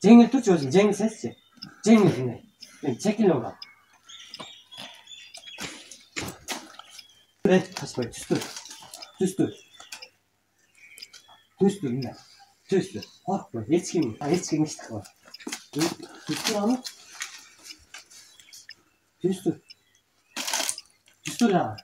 Жеңил турчу өзүң, жеңилсезчи. Жеңил мына. Мен чекилип алам. Качпай түстү. Түстү мына. Түстү. Коркпой, эч ким эч кылбайт. Түстү аны. Түстү ла.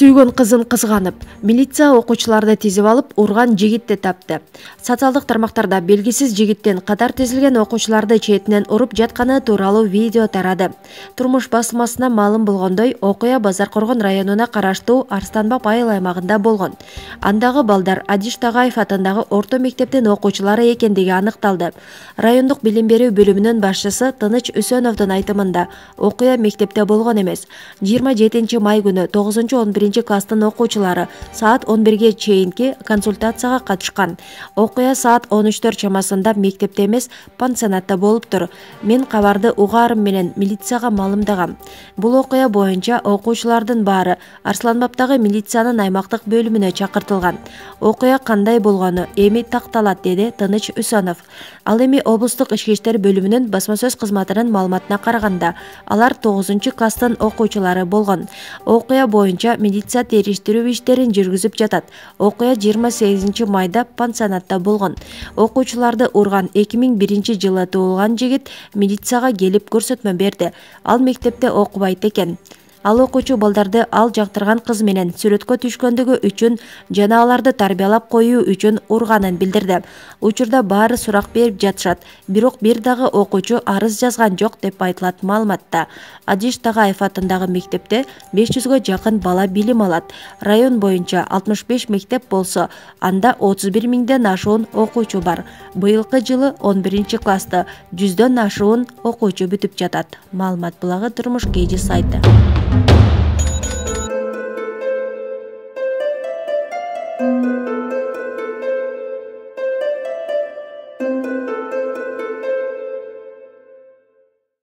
Сүйгөн кызын кызганып, милиция окуучуларды тизип алып, урган жигитти тапты. Социалдык тармактарда белгисиз жигиттин катар тизилген окуучуларды четинен уруп жатканы тууралуу видео тарады. Турмуш басмасына маалым болгондой, окуя Базар Коргон районуна караштуу Арстанбап айыл аймагында болгон. Андагы балдар Адиш Тагаев атындагы орто мектептин окуучулары экендиги аныкталды. Райондук билим берүү бөлүмүнүн башчысы Тыныч Үсөновдун айтымында, окуя мектепте болгон эмес. 27 май күнү 9-11 класстын окуучулары саат 11ге чейинки консультацияга катышкан. Окуя саат 13 чамасында мектепте эмес, пансионатта болуптур. Мен кабарды угаарым менен милицияга маалымдагам. Бул окуя боюнча окуучулардын баары Арсланбаптагы милициянын аймактык бөлүмүнө чакыртылган. Окуя кандай болгону эми такталат, деди Тыныч Үсөнов. Ал эми облустук ички иштер бөлүмүнүн басма сөз кызматынын маалыматына караганда, алар 9-класстын окуучулары болгон. Окуя боюнча милиция териштирүү иштерин жүргүзүп жатат. Окуя 28 майда пансионатта болгон. Окуучуларды урган 2001 жылы туулган жигит милицияга келип көрсөтмө берди. Ал мектепте окубайт экен. Ал окуучу балдарды ал жактырган кыз менен сүрөткө түшкөндүгү үчүн жана аларды тарбиялап коюу үчүн урганын билдирди. Учурда баары сурак берип жатышат, бирок бир дагы окуучу арыз жазган жок деп айтылат маалыматта. Адиш Тагаев атындагы мектепте 500гө жакын бала билим алат. Район боюнча 65 мектеп болсо, анда 31 миңден ашуун окуучу бар. Быйылкы жылы 11-классты 100дөн ашуун окуучу бүтүп жатат. Маалымат булагы Турмуш KG сайты.